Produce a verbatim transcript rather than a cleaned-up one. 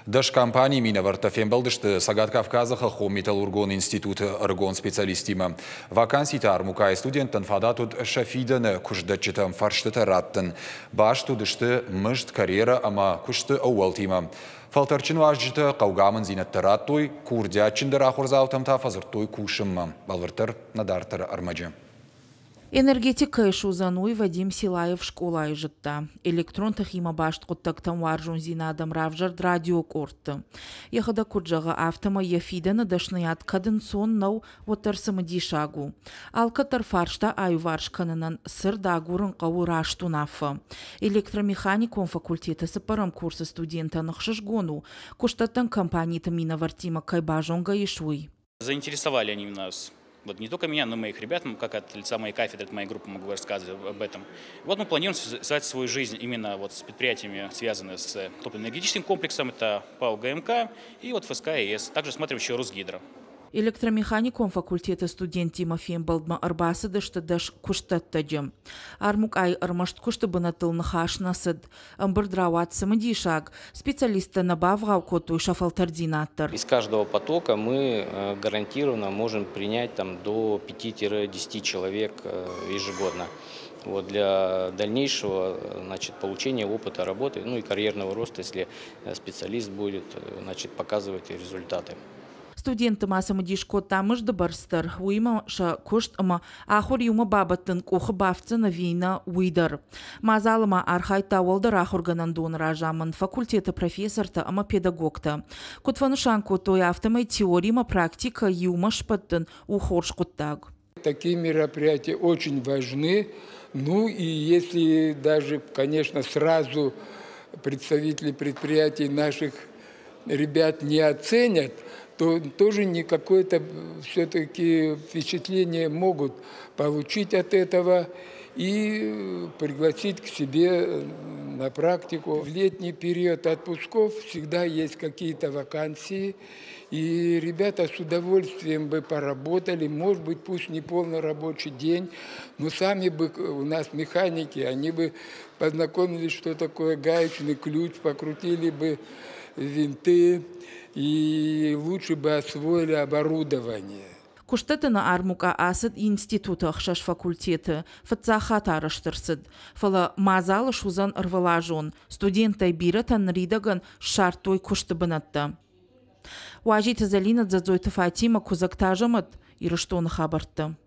Дӕс компанийы минӕвӕрттӕ фембӕлдысты Цӕгат Кавказы хӕххон металлургон институты ӕрыгон специалисттимӕ. Ваканситы армукъайы студенттӕн фадат уыд сӕ фидӕны куыстдӕтджытӕм фӕрстытӕ раттын. Баст уыдысты мызд, карьерӕ ӕмӕ куысты ӕууӕлтимӕ. Фӕлтӕрдджын уазджытӕ хъӕугӕ амынддзинӕдтӕ радтой, курдиатджындӕр ахуырдзаутӕм та фӕдзырдтой кусынмӕ. Бӕлвырддӕр нӕ дарддӕры ӕрмӕджы. Энергетик кӕй суыдзӕн, уый Вадим Силаев скъолайы зыдта. Электрон тыхимӕ баст хъуыддӕгтӕм уарзондзинад ӕм равзӕрд радиокъордты. Йӕхӕдӕг куыд зӕгъы, афтӕмӕй йӕ фидӕны дӕсныйад кӕд ӕнцон нӕу, уӕддӕр цымыдисаг у. Алкӕддӕр фарста аиуварс кӕнынӕн цырд агурын хъӕуы раст уынаффӕ. Электромеханикон факультеты цыппӕрӕм курсы студентӕн ӕхсызгон у, куыстдӕттӕн компаниты минӕвӕрттимӕ кӕй базонгӕ ис, уый. Заинтересовали они нас. Вот не только меня, но и моих ребят, как от лица моей кафедры, от моей группы могу рассказывать об этом. Вот мы планируем связать свою жизнь именно вот с предприятиями, связанными с топливно-энергетическим комплексом, это ПАО гэ эм ка и вот эф эс ка а эс, также смотрим еще Русгидро. Электромеханикон факультеты студенттимӕ фембӕлдмӕ ӕрбацыдысты дӕс куыстдӕттӕджы. Армукъайы ӕрмӕст куысты бынӕттыл ныхас нӕ цыд. Ӕмбырд рауад цымыдисаг. Специалисттӕ нӕ бавгъау кодтой сӕ фӕлтӕрддзинад дӕр. Из каждого потока мы э, гарантированно можем принять там до пяти-десяти человек э, ежегодно. Вот, для дальнейшего, значит, получения опыта работы, ну и карьерного роста, если э, специалист будет, значит, показывать результаты. Студентты ма цымыдис кодта мызды бӕрц дӕр, уыимӕ сӕ куыст ӕмӕ ахуыр иумӕ бабӕттын къухы бафтдзӕн ӕви нӕ, уый дӕр. Мадзалы ма архайдта уӕлдӕр ахуыргӕнӕндоны разамынд, факультеты профессортӕ ӕмӕ педагогтӕ. Куыд фӕнысан кодтой, афтӕмӕй теори ӕмӕ практикӕ иумӕ сбӕттын у хорз хъуыддаг. Такие мероприятия очень важны. Ну и если даже, конечно, сразу представители предприятий наших ребят не оценят, то тоже не какое-то все-таки впечатление могут получить от этого и пригласить к себе на практику. В летний период отпусков всегда есть какие-то вакансии, и ребята с удовольствием бы поработали, может быть, пусть не полный рабочий день, но сами бы у нас механики, они бы познакомились, что такое гаечный ключ, покрутили бы винты и лучше бы освоили оборудование. Куыстдӕттыны армукъа ацыд институты ӕхсӕз факультеты. Фыццаг хатт арӕзт ӕрцыд. Фӕлӕ мадзал суыдзӕн ӕрвылазон. Студенттӕй бирӕтӕ ныридӕгӕн ссардтой куысты бынӕттӕ. Уазиты Зӕлинӕ, Дзӕдзойты Фатимӕ, Куыдзӕгты Азӕмӕт, Ирыстоны хабӕрттӕ.